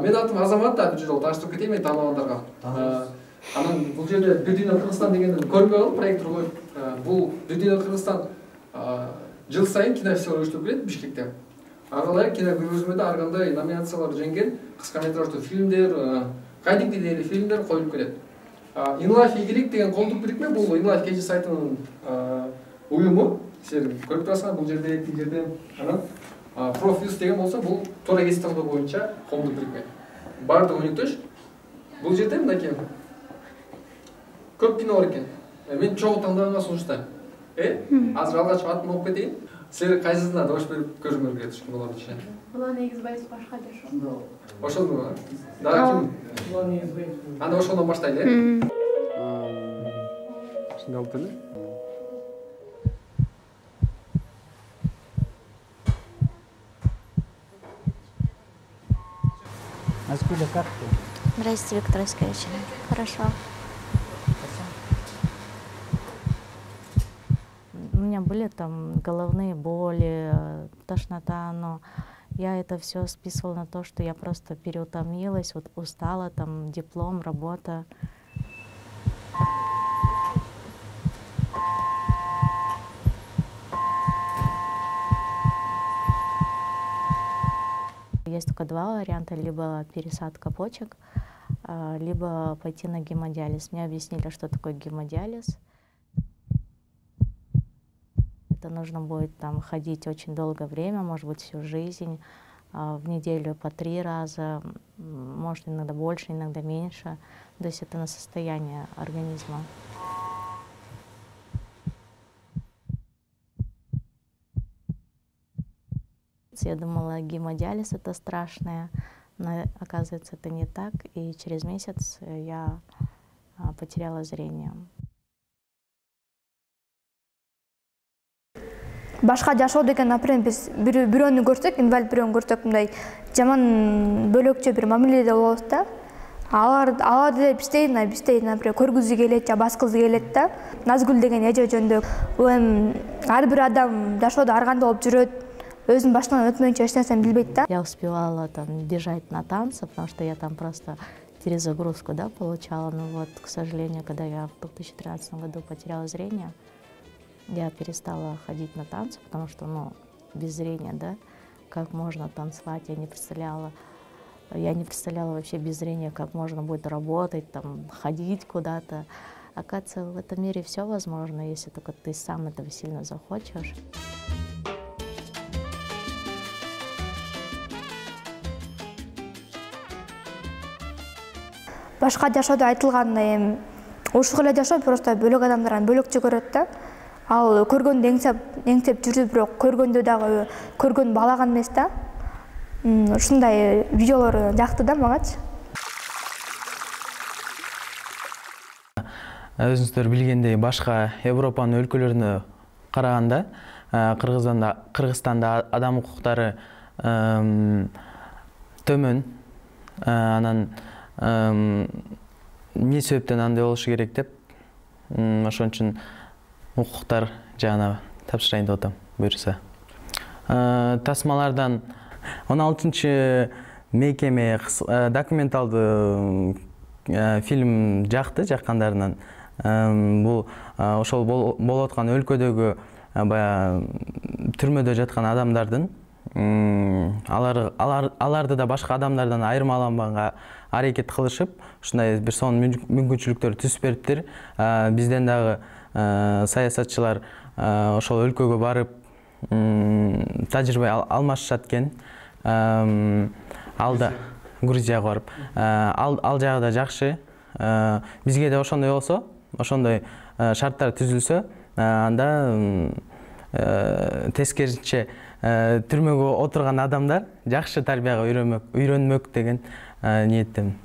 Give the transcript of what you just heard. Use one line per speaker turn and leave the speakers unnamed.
Менин атым Азамат да, бул жерде тааныштырып кетейин мен тааныбагандарга. Анан бул жерде Бир дүйнө Кыргызстан дегенди көрүнбөй калды, проекттер коюп. Бул Бир дүйнө Кыргызстан жыл сайын кинофестиваль уюштуруп келет Бишкекте. Ага ылайык кино көргөзмөдө ар кандай номинациялар жеңген кыска метраждуу фильмдер, кадимки деле фильмдер коюлуп келет. InLife ийгилик деген коомдук бирикме, бул InLife KG сайтынын уюму. Силер көрүп турасыңар, бул жерде, тил жерде. Анан Профьюз деген болсо, бул туура кесип тандоо боюнча коомдук бирикме. Баардыгы өнүктөш. Бул жерде мынакей көп кино бар экен. Мен чогуу тандаганга сунуштайм. Азыр алгач атымды окуп кетейин. Силер кайсысына добуш берип көрүңөр келет кинолорду ишен?
Булан Эгизбаев башка жашоо.
Ошону. Да, ким? Булан Эгизбаев. Анда ошондон баштайлы, Ушундай алып эле.
Откуда, как ты?
Здравствуйте, Виктор Искович. Хорошо. У меня были там головные боли, тошнота, но я это все списывала на то, что я просто переутомилась, вот устала, там диплом, работа. Есть только два варианта: либо пересадка почек, либо пойти на гемодиализ. Мне объяснили, что такое гемодиализ. Это нужно будет там ходить очень долгое время, может быть, всю жизнь, в неделю по 3 раза, может, иногда больше, иногда меньше. То есть это на состояние организма. Я думала, гемодиализ это страшное, но оказывается, это не так. И через месяц я потеряла зрение.
Башка жашоо деген, например, биз бирөөнү көрсөк, инвалид бирөөнү көрсөк, мындай жаман бөлөкчө бир мамиледе болобуз да. Алар деле биздей, например, көргүзү келет же баскызы келет да. Назгүл деген эже жөнүндө. Бул эми ар бир адам жашоодо ар кандай болуп жүрөт, өзүнүн башынан өтмөйүнчө эч нерсени билбейт да.
Я успевала там бежать на танцы, потому что я там просто перезагрузку, да, получала. Но вот, к сожалению, когда я в 2013 году потеряла зрение, я перестала ходить на танцы, потому что, ну, без зрения, да, как можно танцевать, я не представляла вообще без зрения, как можно будет работать, там, ходить куда-то. Оказывается, в этом мире все возможно, если только ты сам этого сильно захочешь.
Башка жашоодо айтылгандай, эми ушул эле жашоо просто бөлөк адамдардан бөлөкчө көрөт да. Ал көргөндө эңсеп жүрүп, бирок көргөндө дагы көргөн балаган эмес да. Ушундай видеолор жакты да магачы.
Өзүңүздөр билгендей, башка Европанын өлкөлөрүнө караганда Кыргызстанда адам укуктары төмөн. Анан эмне себептен андай болушу керек деп, ошон үчүн укуктар жагына тапшырайын деп атам, буюрса. Тасмалардан 16-чы мекеме документалдуу фильм жаккандарынан. Бул ошол болуп аткан өлкөдөгү баягы түрмөдө жаткан адамдардын аларды да башка адамдардан айырмаланганга аракет кылышып, ушундай бир сонун мүмкүнчүлүктөр түзүп бериптир. Бизден дагы саясатчылар ошол өлкөгө барып тажрыйба алмашышат экен. Алда Грузияга барып, ал жагы да жакшы. Бизге да ошондой болсо, ошондой шарттар түзүлсө, анда тескерисинче түрмөгө отурган адамдар жакшы тарбияга үйрөнмөк деген ниеттемин.